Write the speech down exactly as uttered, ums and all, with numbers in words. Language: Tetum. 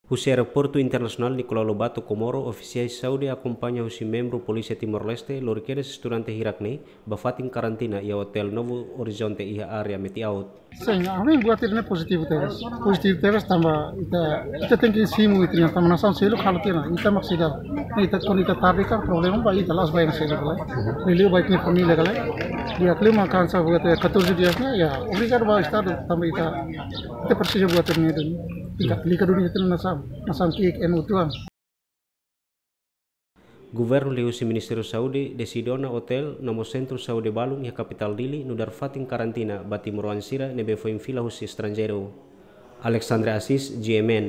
Husi Aeroportu Internasionál Nicolau Lobato Comoro, ofisiais saúde akompaña husi membru Polísia Timor-Leste lori kedas estudante hirak ne'e ba fatin karantina iha Hotel Novo Horizonte iha área Metiaut. Sin, ami buat ne'e pozitivu tebes. Pozitivu tebes tanba ita, ita tenke simu ita-nia, tanba nasaun seluk halo tiha ona, ita mak seidauk. Ita, kuandu ita tarde kan problema ba ita, la'ós ba ema seluk ka lae. Liuliu ba ita-nia família ka lae. Di'ak liu mak hanesan buat ne'e, catorze dias ne'e, ya, obrigadu ba Estadu tanba ita, ita presiza buat ne'e duni. Ita aplika duni ita-nia nasaun, nasaun ki'ik ema uitoan. Governu liuhusi Ministériu Saúde deside ona hotel no mós sentru saúde balun iha kapitál Dili nu'udar fatin karantina ba timoroan sira ne'ebé foin fila husi estranjeiru. Alexandre Assis, G M N.